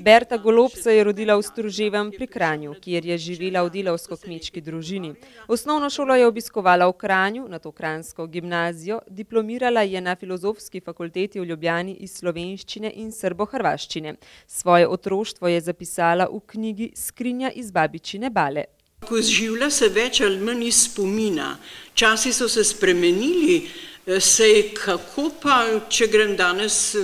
Berta Golob se je rodila v Struževem pri Kranju, kjer je živela v delavsko-kmečki družini. Osnovno šolo je obiskovala v Kranju, nato kranjsko gimnazijo, diplomirala je na Filozofski fakulteti v Ljubljani iz slovenščine in srbohrvaščine. Svoje otroštvo je zapisala v knjigi Skrinja iz babičine Bale. Ko življa se več ali manj iz spomina. Časi so se spremenili, sej kako pa, če grem danes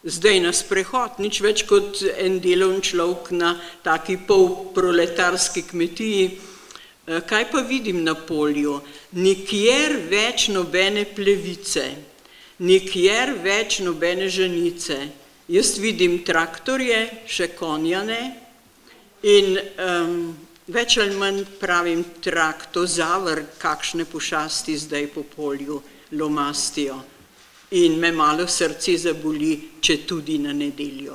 zdaj na sprehod, nič več kot en delovni človek na taki polproletarski kmetiji. Kaj pa vidim na polju? Nikjer več nobene plevice, nikjer več nobene ženice. Jaz vidim traktorje, še konja ne, in več ali manj pravim traktozavr, kakšne pošasti zdaj po polju lomastijo. In me malo srce zaboli, če tudi na nedeljo.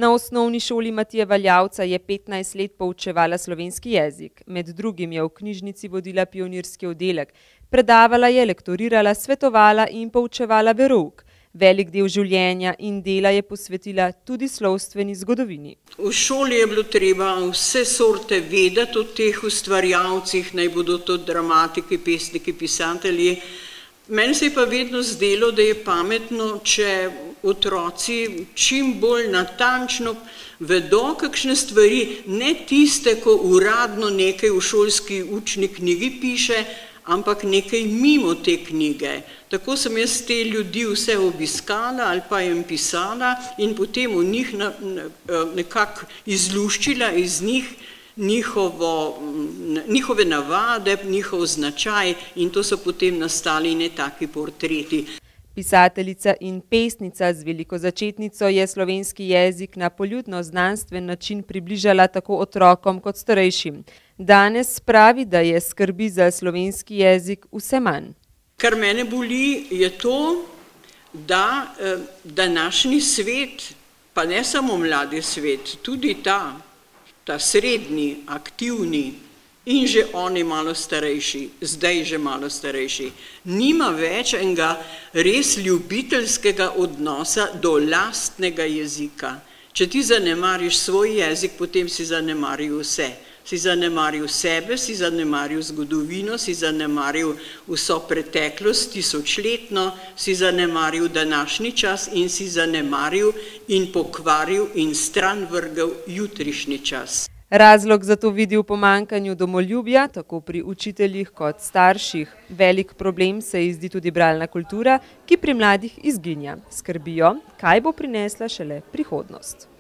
Na osnovni šoli Matije Valjavca je 15 let poučevala slovenski jezik. Med drugim je v knjižnici vodila pionirski oddelek. Predavala je, lektorirala, svetovala in poučevala verouk. Velik del življenja in dela je posvetila tudi slovstveni zgodovini. V šoli je bilo treba vse sorte vedeti o teh ustvarjalcih, naj bodo to dramatiki, pesniki, pisatelji. Meni se je pa vedno zdelo, da je pametno, če otroci čim bolj natančno vedo kakšne stvari, ne tiste, ko uradno nekaj v šolski učni knjigi piše, ampak nekaj mimo te knjige. Tako sem jaz te ljudi vse obiskala ali pa jim pisala in potem v njih nekako izluščila iz njih njihove navade, njihov značaj, in to so potem nastali ne taki portreti. Pisateljica in pesnica z veliko začetnico je slovenski jezik na poljudno-znanstven način približala tako otrokom kot starejšim. Danes pravi, da je skrbi za slovenski jezik vse manj. Kar mene boli, je to, da današnji svet, pa ne samo mladi svet, tudi ta srednji, aktivni in že oni malo starejši, zdaj že malo starejši, nima več enega res ljubiteljskega odnosa do lastnega jezika. Če ti zanemariš svoj jezik, potem si zanemaril vse. Si zanemaril sebe, si zanemaril zgodovino, si zanemaril vso preteklost, tisočletno, si zanemaril današnji čas in si zanemaril in pokvaril in stran vrgel jutrišnji čas. Razlog za to vidi v pomanjkanju domoljubja, tako pri učiteljih kot starših. Velik problem se ji zdi tudi bralna kultura, ki pri mladih izginja. Skrbijo, kaj bo prinesla šele prihodnost.